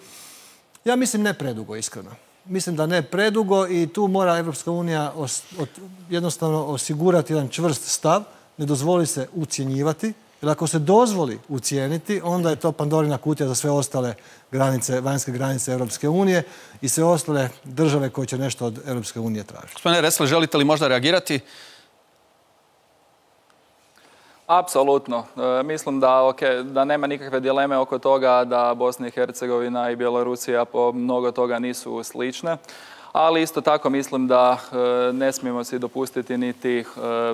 Speaker 12: ja mislim, ne predugo, iskreno. Mislim da ne predugo i tu mora Europska unija jednostavno osigurati jedan čvrst stav, ne dozvoli se ucjenjivati, jer ako se dozvoli ucijeniti, onda je to Pandorina kutija za sve ostale granice, vanjske granice Europske unije i sve ostale države koje će nešto od Europske unije tražiti.
Speaker 1: Gospodine Ressler, želite li možda reagirati?
Speaker 3: Apsolutno. Mislim da nema nikakve dileme oko toga da Bosna i Hercegovina i Bjelorusija po mnogo toga nisu slične. Ali isto tako mislim da ne smijemo si dopustiti niti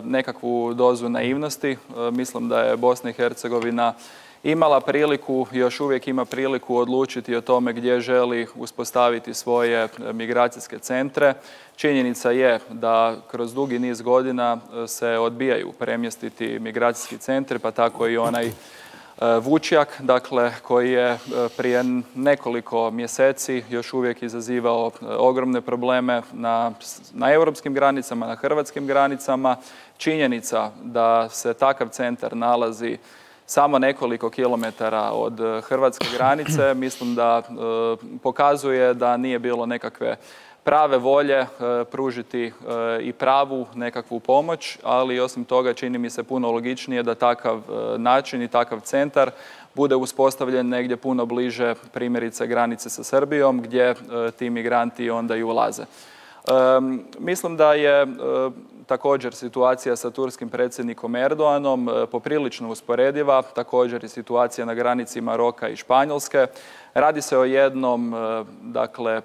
Speaker 3: nekakvu dozu naivnosti. Mislim da je Bosna i Hercegovina imala priliku, još uvijek ima priliku odlučiti o tome gdje želi uspostaviti svoje migracijske centre. Činjenica je da kroz dugi niz godina se odbijaju premjestiti migracijski centri, pa tako i onaj Vučjak, dakle, koji je prije nekoliko mjeseci još uvijek izazivao ogromne probleme na europskim granicama, na hrvatskim granicama. Činjenica da se takav centar nalazi samo nekoliko kilometara od hrvatske granice, mislim da pokazuje da nije bilo nekakve prave volje pružiti i pravu nekakvu pomoć, ali osim toga čini mi se puno logičnije da takav način i takav centar bude uspostavljen negdje puno bliže primjerice granice sa Srbijom gdje ti migranti onda i ulaze. Mislim da je također situacija sa turskim predsjednikom Erdoganom poprilično usporediva, također i situacija na granici Maroka i Španjolske. Radi se o jednom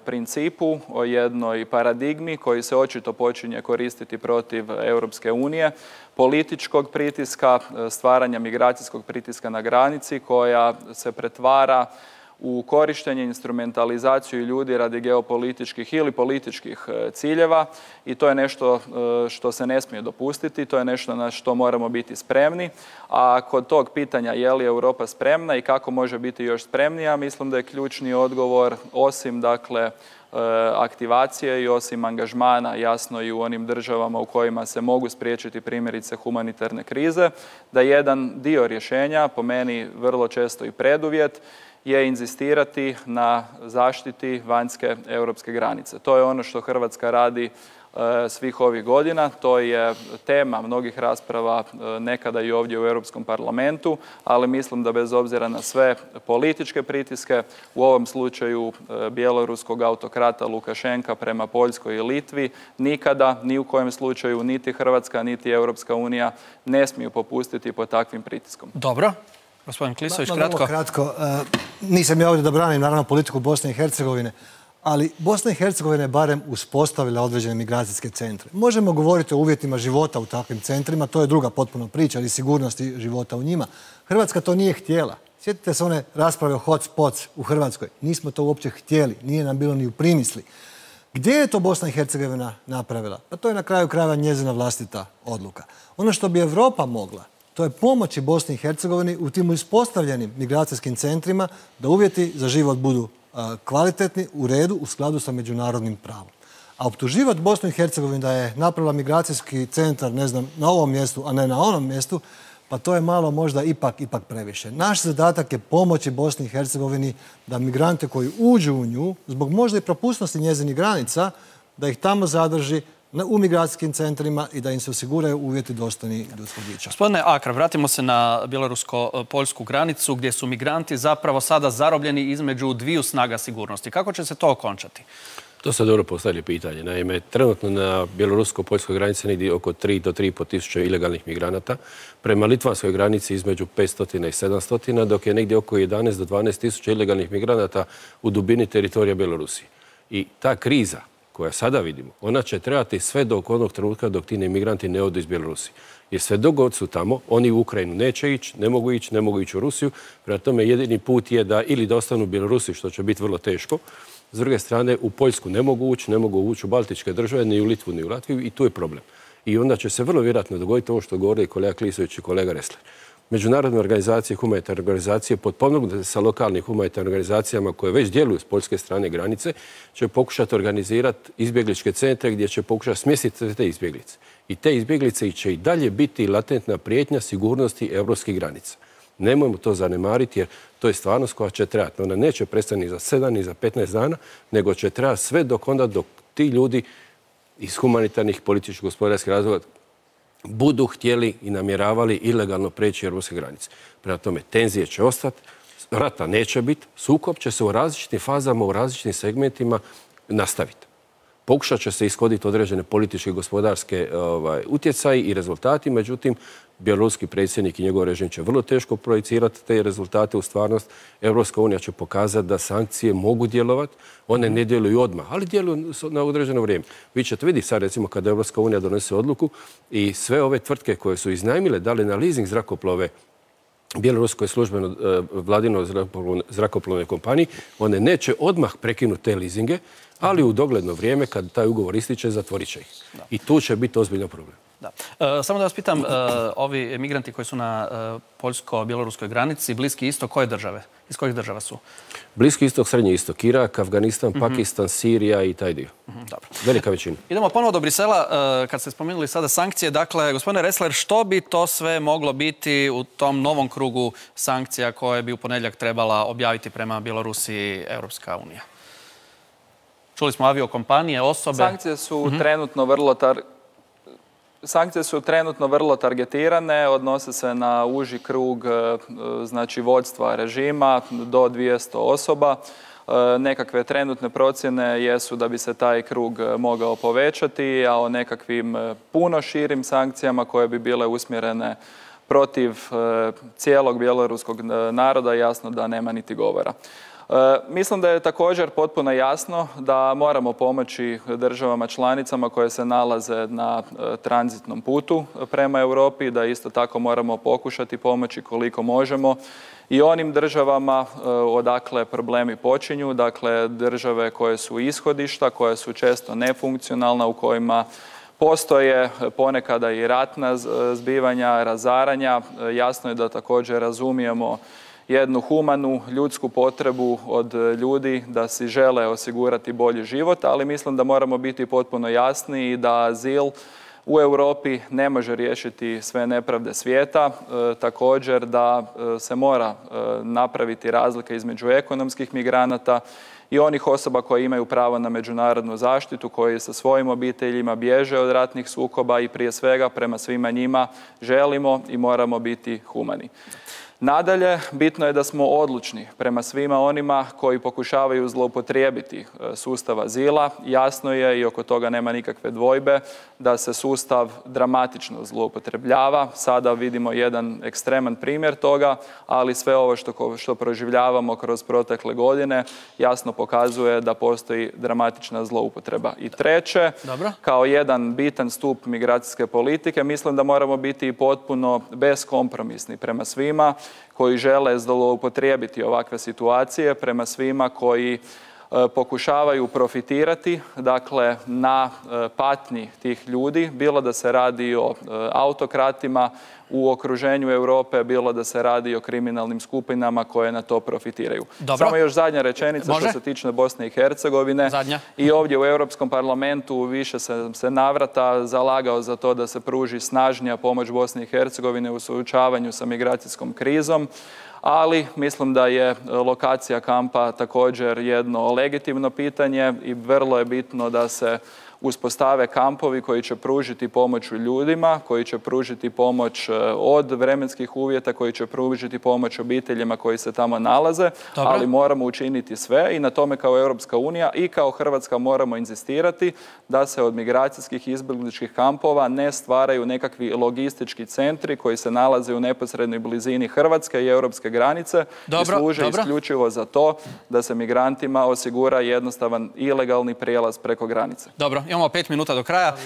Speaker 3: principu, o jednoj paradigmi koji se očito počinje koristiti protiv Europske unije, političkog pritiska, stvaranja migracijskog pritiska na granici koja se pretvara u korištenje, instrumentalizaciju ljudi radi geopolitičkih ili političkih ciljeva i to je nešto što se ne smije dopustiti, to je nešto na što moramo biti spremni. A kod tog pitanja je li Europa spremna i kako može biti još spremnija, mislim da je ključni odgovor osim aktivacije i osim angažmana jasno i u onim državama u kojima se mogu spriječiti primjerice humanitarne krize, da jedan dio rješenja, po meni vrlo često i preduvjet, je inzistirati na zaštiti vanjske europske granice. To je ono što Hrvatska radi svih ovih godina. To je tema mnogih rasprava nekada i ovdje u Europskom parlamentu, ali mislim da bez obzira na sve političke pritiske, u ovom slučaju bjeloruskog autokrata Lukašenka prema Poljskoj i Litvi, nikada, ni u kojem slučaju, niti Hrvatska, niti Europska unija ne smiju popustiti pod takvim pritiskom.
Speaker 1: Dobro. Gospodin Klisović,
Speaker 12: kratko. Nisam ja ovdje da branim, naravno, politiku Bosne i Hercegovine, ali Bosna i Hercegovina je barem uspostavila određene migracijske centre. Možemo govoriti o uvjetima života u takvim centrima, to je druga potpuno priča, ali sigurnosti života u njima. Hrvatska to nije htjela. Sjetite se one rasprave o hotspots u Hrvatskoj. Nismo to uopće htjeli, nije nam bilo ni u primisli. Gdje je to Bosna i Hercegovina napravila? Pa to je na kraju krajeva njezina vlastita odluka. Ono što bi Europa mogla, to je pomoći Bosni i Hercegovini u tim uspostavljenim migracijskim centrima da uvjeti za život budu kvalitetni, u redu, u skladu sa međunarodnim pravom. A optuživati Bosnu i Hercegovinu da je napravila migracijski centar, ne znam, na ovom mjestu, a ne na onom mjestu, pa to je malo možda ipak previše. Naš zadatak je pomoći Bosni i Hercegovini da migrante koji uđu u nju, zbog možda i propusnosti njezinih granica, da ih tamo zadrži, u migracijskim centrima i da im se osiguraju uvjeti dostojni ljudskog bića.
Speaker 1: Gospodine Akra, vratimo se na bjelorusko-poljsku granicu gdje su migranti zapravo sada zarobljeni između dviju snaga sigurnosti. Kako će se to okončati?
Speaker 13: To se dobro postavlja pitanje. Naime, trenutno na bjelorusko-poljskoj granici negdje oko 3 do 3,5 tisuća ilegalnih migranata. Prema litvanskoj granici između 500 i 700, dok je negdje oko 11 do 12 tisuća ilegalnih migranata u dubini teritorija Bjelorusije. I ta kriza koja sada vidimo, ona će trebati sve do onog trenutka dok ti migranti ne odu iz Bjelorusije. Jer sve dok god su tamo, oni u Ukrajinu neće ići, ne mogu ići u Rusiju. Prema tome jedini put je da ili da ostanu u Bjelorusiji, što će biti vrlo teško. S druge strane, u Poljsku ne mogu ući u Baltičke države, ni u Litvu, ni u Latviju i tu je problem. I onda će se vrlo vjerojatno dogoditi ovo što govori kolega Klisović i kolega Ressler. Međunarodne organizacije, humanitarne organizacije, potpomognute sa lokalnim humanitarnim organizacijama koje već djeluju s poljske strane granice, će pokušati organizirati izbjegličke centre gdje će pokušati smjestiti te izbjeglice. I te izbjeglice će i dalje biti latentna prijetnja sigurnosti europskih granica. Nemojmo to zanemariti jer to je stvarnost koja će trebati. Ona neće prestati ni za 7 ni za 15 dana, nego će trebati sve dok ti ljudi iz humanitarnih, političkih, gospodarskih razloga budu htjeli i namjeravali ilegalno preći europske granice. Prema tome, tenzije će ostati, rata neće biti, sukob će se u različitim fazama, u različitim segmentima nastaviti. Pokušat će se ishoditi određene političke i gospodarske utjecaji i rezultati, međutim, bjeloruski predsjednik i njegov režim će vrlo teško projicirati te rezultate u stvarnost. Europska unija će pokazati da sankcije mogu djelovati, one ne djeluju odmah, ali djeluju na određeno vrijeme. Vi ćete vidjeti sad, recimo, kada Europska unija donese odluku i sve ove tvrtke koje su iznajmile, dali na leasing zrakoplove bjeloruskoj službeno vladinoj zrakoplovnoj kompaniji, one neće odmah prekinuti te leasinge, ali u dogledno vrijeme, kad taj ugovor ističe, zatvorit će ih. I tu će biti ozbiljan problem.
Speaker 1: Samo da vas pitam, ovi emigranti koji su na poljsko-bjeloruskoj granici, Bliski istok, koje države? Iz kojih država su?
Speaker 13: Bliski istok, Srednji istok, Irak, Afganistan, Pakistan, Sirija i taj dio. Velika većina.
Speaker 1: Idemo ponovo do Brisela, kad ste spomenuli sada sankcije. Dakle, gospodine Ressler, što bi to sve moglo biti u tom novom krugu sankcija koje bi u ponedjeljak trebala objaviti prema Bjelorusiji Europska unija? Čuli smo aviokompanije, osobe.
Speaker 3: Sankcije su trenutno vrlo targetirane, odnose se na uži krug vođstva režima do 200 osoba. Nekakve trenutne procjene jesu da bi se taj krug mogao povećati, a o nekakvim puno širim sankcijama koje bi bile usmjerene protiv cijelog bjeloruskog naroda jasno da nema niti govora. Mislim da je također potpuno jasno da moramo pomoći državama članicama koje se nalaze na tranzitnom putu prema Europi, da isto tako moramo pokušati pomoći koliko možemo i onim državama odakle problemi počinju, dakle države koje su ishodišta, koje su često nefunkcionalna, u kojima postoje ponekada i ratna zbivanja, razaranja. Jasno je da također razumijemo jednu humanu ljudsku potrebu od ljudi da si žele osigurati bolji život, ali mislim da moramo biti potpuno jasni i da azil u Europi ne može riješiti sve nepravde svijeta. Također da se mora napraviti razlika između ekonomskih migranata i onih osoba koje imaju pravo na međunarodnu zaštitu, koji sa svojim obiteljima bježe od ratnih sukoba i prije svega prema svima njima želimo i moramo biti humani. Nadalje, bitno je da smo odlučni prema svima onima koji pokušavaju zloupotrijebiti sustav azila. Jasno je i oko toga nema nikakve dvojbe da se sustav dramatično zloupotrebljava. Sada vidimo jedan ekstreman primjer toga, ali sve ovo što proživljavamo kroz protekle godine jasno pokazuje da postoji dramatična zloupotreba. I treće, kao jedan bitan stup migracijske politike, mislim da moramo biti potpuno beskompromisni prema svima koji žele zloupotrijebiti ovakve situacije, prema svima koji pokušavaju profitirati, dakle, na patnji tih ljudi, bilo da se radi o autokratima u okruženju Europe, bilo da se radi o kriminalnim skupinama koje na to profitiraju. Samo još zadnja rečenica što se tiče Bosne i Hercegovine. I ovdje u Europskom parlamentu više se navrata zalagao za to da se pruži snažnija pomoć Bosni i Hercegovine u suočavanju sa migracijskom krizom, ali mislim da je lokacija kampa također jedno legitimno pitanje i vrlo je bitno da se uspostave kampovi koji će pružiti pomoć ljudima, koji će pružiti pomoć od vremenskih uvjeta, koji će pružiti pomoć obiteljima koji se tamo nalaze, ali moramo učiniti sve i na tome kao Europska unija i kao Hrvatska moramo inzistirati da se od migracijskih izbjegličkih kampova ne stvaraju nekakvi logistički centri koji se nalaze u neposrednoj blizini Hrvatske i europske granice i služe isključivo za to da se migrantima osigura jednostavan ilegalni prijelaz preko granice.
Speaker 1: Dobro, imamo 5 minuta do kraja.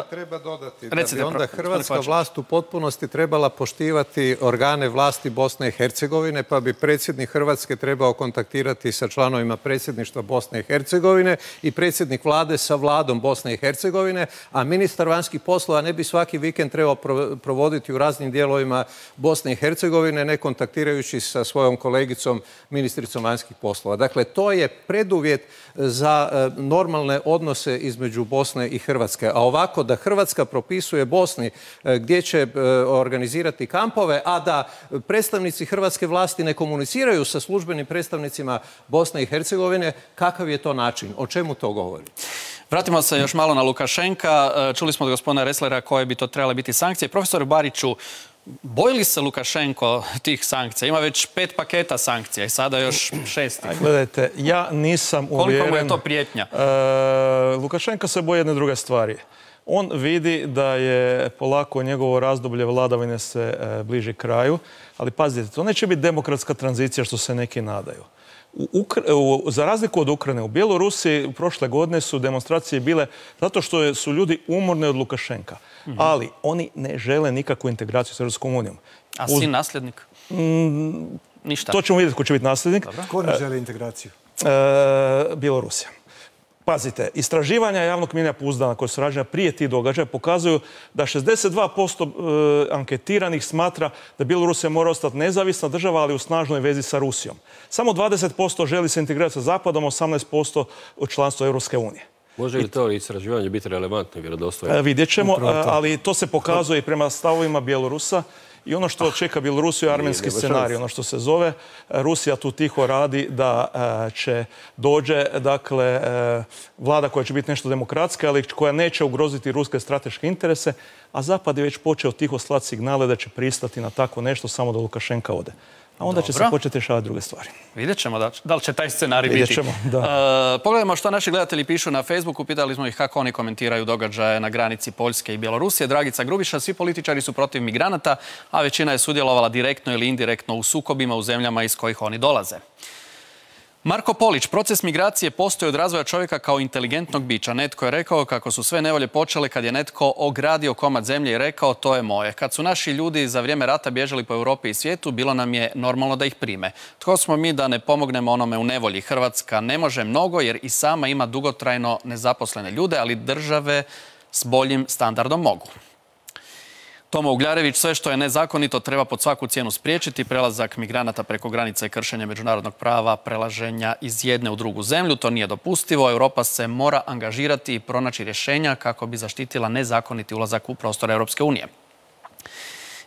Speaker 11: Treba dodati da bi onda hrvatska vlast u potpunosti trebala poštivati organe vlasti Bosne i Hercegovine, pa bi predsjednik Hrvatske trebao kontaktirati sa članovima predsjedništva Bosne i Hercegovine i predsjednik vlade sa vladom Bosne i Hercegovine, a ministar vanjskih poslova ne bi svaki vikend trebao provoditi u raznim dijelovima Bosne i Hercegovine, ne kontaktirajući sa svojom kolegicom, ministricom vanjskih poslova. Dakle, to je preduvjet za normalne odnose između Bosne i Hrvatske. A ovako da Hrvatska propisuje Bosni gdje će organizirati kampove, a da predstavnici hrvatske vlasti ne komuniciraju sa službenim predstavnicima Bosne i Hercegovine, kakav je to način? O čemu to govori?
Speaker 1: Vratimo se još malo na Lukašenka. Čuli smo od gospodina Resslera koje bi to trebale biti sankcije. Profesor Bariću, boji li se Lukašenko tih sankcija? Ima već 5 paketa sankcija i sada još 6.
Speaker 10: Gledajte, ja nisam uvjeren...
Speaker 1: Koliko mu je to prijetnja?
Speaker 10: Lukašenko se boji jedne druge stvari. On vidi da je polako njegovo razdoblje vladavine se bliži kraju, ali pazite, to neće biti demokratska tranzicija što se neki nadaju. Za razliku od Ukrajine, u Bjelorusiji prošle godine su demonstracije bile zato što su ljudi umorni od Lukašenka. Ali oni ne žele nikakvu integraciju s Europskom unijom.
Speaker 1: A sin nasljednik? Ništa.
Speaker 10: To ćemo vidjeti ko će biti nasljednik.
Speaker 12: Ko ne želi integraciju?
Speaker 10: Bjelorusija. Pazite, istraživanja javnog mnijenja pouzdana koje su rađena prije tih događaja pokazuju da 62% anketiranih smatra da Bjelorusija mora ostati nezavisna država, ali u snažnoj vezi sa Rusijom. Samo 20% želi se integrirati sa Zapadom, 18% u članstvo Europske unije.
Speaker 13: Može li to istraživanje biti relevantno i vjerodostojno?
Speaker 10: Vidjet ćemo, ali to se pokazuje i prema stavovima Bjelorusa. I ono što čeka Bjelorusiju je armenski scenarij, ono što se zove. Rusija tu tiho radi da će dođe, dakle, vlada koja će biti nešto demokratska, ali koja neće ugroziti ruske strateške interese, a Zapad je već počeo tiho slati signale da će pristati na tako nešto samo da Lukašenka ode. A onda će se početi rješavati druge stvari.
Speaker 1: Vidjet ćemo da li će taj scenarij biti.
Speaker 10: Vidjet ćemo, da.
Speaker 1: Pogledajmo što naši gledatelji pišu na Facebooku. Pitali smo ih kako oni komentiraju događaje na granici Poljske i Bjelorusije. Dragica Grubiša, svi političari su protiv migranata, a većina je sudjelovala direktno ili indirektno u sukobima u zemljama iz kojih oni dolaze. Marko Polić, proces migracije postoji od razvoja čovjeka kao inteligentnog bića. Netko je rekao kako su sve nevolje počele kad je netko ogradio komad zemlje i rekao to je moje. Kad su naši ljudi za vrijeme rata bježali po Europi i svijetu, bilo nam je normalno da ih prime. Tko smo mi da ne pomognemo onome u nevolji? Hrvatska ne može mnogo jer i sama ima dugotrajno nezaposlene ljude, ali države s boljim standardom mogu. Tomo Ugljarević, sve što je nezakonito treba pod svaku cijenu spriječiti. Prelazak migranata preko granica i kršenje međunarodnog prava, prelaženja iz jedne u drugu zemlju. To nije dopustivo. Europa se mora angažirati i pronaći rješenja kako bi zaštitila nezakoniti ulazak u prostor Europske unije.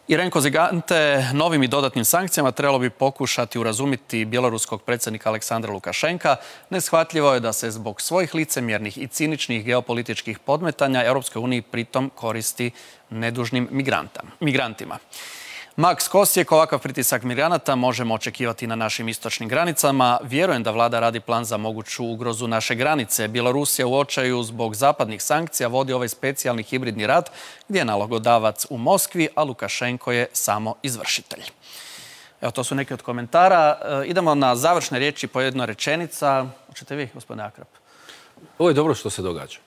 Speaker 1: Irenko Zigante, novim i dodatnim sankcijama trebalo bi pokušati urazumiti bjeloruskog predsjednika Aleksandra Lukašenka. Neshvatljivo je da se zbog svojih licemjernih i ciničnih geopolitičkih podmetanja Europskoj uniji pritom koristi nedužnim migrantima. Max Kosijek, ovakav pritisak migranata možemo očekivati na našim istočnim granicama. Vjerujem da vlada radi plan za moguću ugrozu naše granice. Bjelorusija u očaju zbog zapadnih sankcija vodi ovaj specijalni hibridni rat gdje je nalogodavac u Moskvi, a Lukašenko je samo izvršitelj. Evo, to su neki od komentara. Idemo na završne riječi po jedna rečenica. Hoćete vi, gospodine Akrap?
Speaker 13: Ovo je dobro što se događa.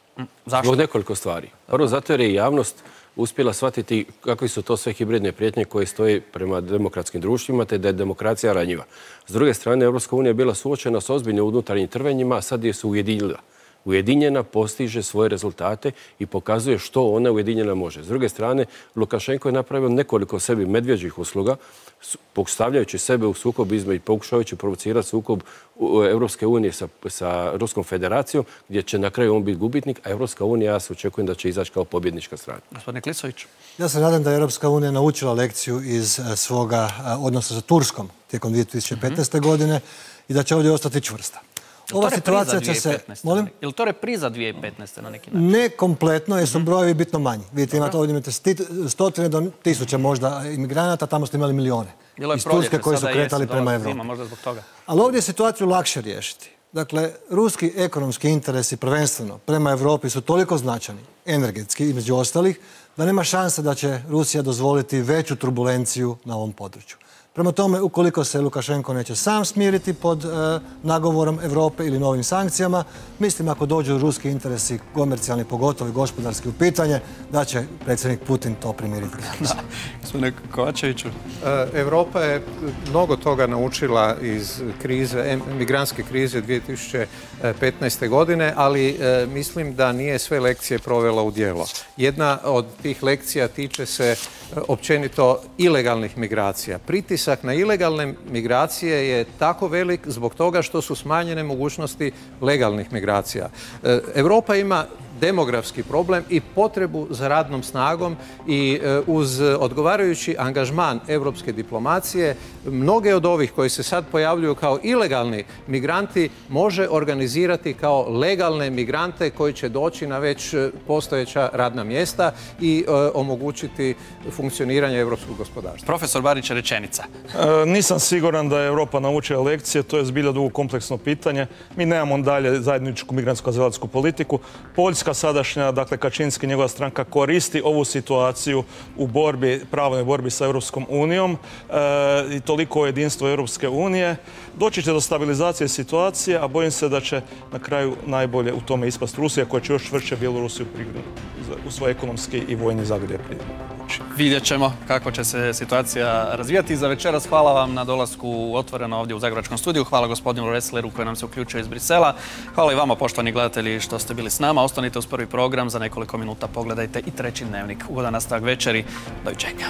Speaker 1: Zašto?
Speaker 13: Zbog nekoliko stvari. Prvo, zato jer je javnost uspjela shvatiti kakvi su to sve hibridne prijetnje koje stoje prema demokratskim društvima, te da je demokracija ranjiva. S druge strane, Europska unija je bila suočena s ozbiljnim unutarnjim trvenjima, a sad je se ujedinila. Ujedinjena postiže svoje rezultate i pokazuje što ona ujedinjena može. S druge strane, Lukašenko je napravio nekoliko sebi medvjeđih usluga, postavljajući sebe u sukob između, pokušavajući provocirati sukob Europske unije sa Ruskom federacijom, gdje će na kraju on biti gubitnik, a Europska unija, ja se očekujem da će izaći kao pobjednička strana.
Speaker 1: Gospodine Klisović.
Speaker 12: Ja se nadam da je Europska unija naučila lekciju iz svoga odnosa sa Turskom tijekom 2015. godine i da će ovdje ostati čvrsta. Ova situacija će se...
Speaker 1: Molim? Je li to repriza 2015. na neki način?
Speaker 12: Ne kompletno, jer su brojevi bitno manji. Vidite, ovdje imate stotine do tisuća možda imigranata, tamo ste imali milijone. Iz Turske koji su kretali prema Evropi. Ali ovdje je situaciju lakše riješiti. Dakle, ruski ekonomski interesi prvenstveno prema Evropi su toliko značajni, energetski i među ostalih, da nema šanse da će Rusija dozvoliti veću turbulenciju na ovom području. Prema tome, ukoliko se Lukašenko neće sam smiriti pod nagovorom Europe ili novim sankcijama, mislim ako dođu ruski interesi komercijalni, pogotovo i gospodarski u pitanje, da će predsjednik Putin to primiriti.
Speaker 1: Gospodine Kovačeviću.
Speaker 11: Europa je mnogo toga naučila iz migrantske krize 2015. godine, ali mislim da nije sve lekcije provela u djelo. Jedna od tih lekcija tiče se općenito ilegalnih migracija. Pritisak na ilegalne migracije je tako velik zbog toga što su smanjene mogućnosti legalnih migracija. Europa ima demografski problem i potrebu za radnom snagom i uz odgovarajući angažman europske diplomacije mnoge od ovih koji se sad pojavljuju kao ilegalni migranti može organizirati kao legalne migrante koji će doći na već postojeća radna mjesta i omogućiti funkcioniranje europskog gospodarstva.
Speaker 1: Profesor Barić, rečenica.
Speaker 10: Nisam siguran da je Europa naučila lekcije, to je zbilja dugo kompleksno pitanje. Mi nemamo dalje zajedničku migrantsku-azilatsku politiku. Poljska sadašnja, dakle Kačinski i njegova stranka koristi ovu situaciju u pravnoj borbi sa Europskom unijom i toliko o jedinstvu Europske unije. Doći će do stabilizacije situacije, a bojim se da će na kraju najbolje u tome ispast Rusija, koja će još čvršće Bjelorusiju u svoj ekonomski i vojni zagrljaj.
Speaker 1: Vidjet ćemo kako će se situacija razvijati. Za večeras hvala vam na dolasku u Otvoreno ovdje u Zagrebačkom studiju. Hvala gospodinu Ressleru koji nam se uključio iz Brisela. Hvala i vama, poštovani gledatelji, što ste bili s nama. Ostanite uz prvi program. Za nekoliko minuta pogledajte i treći dnevnik. Ugodan nastavak večeri. Doviđenja.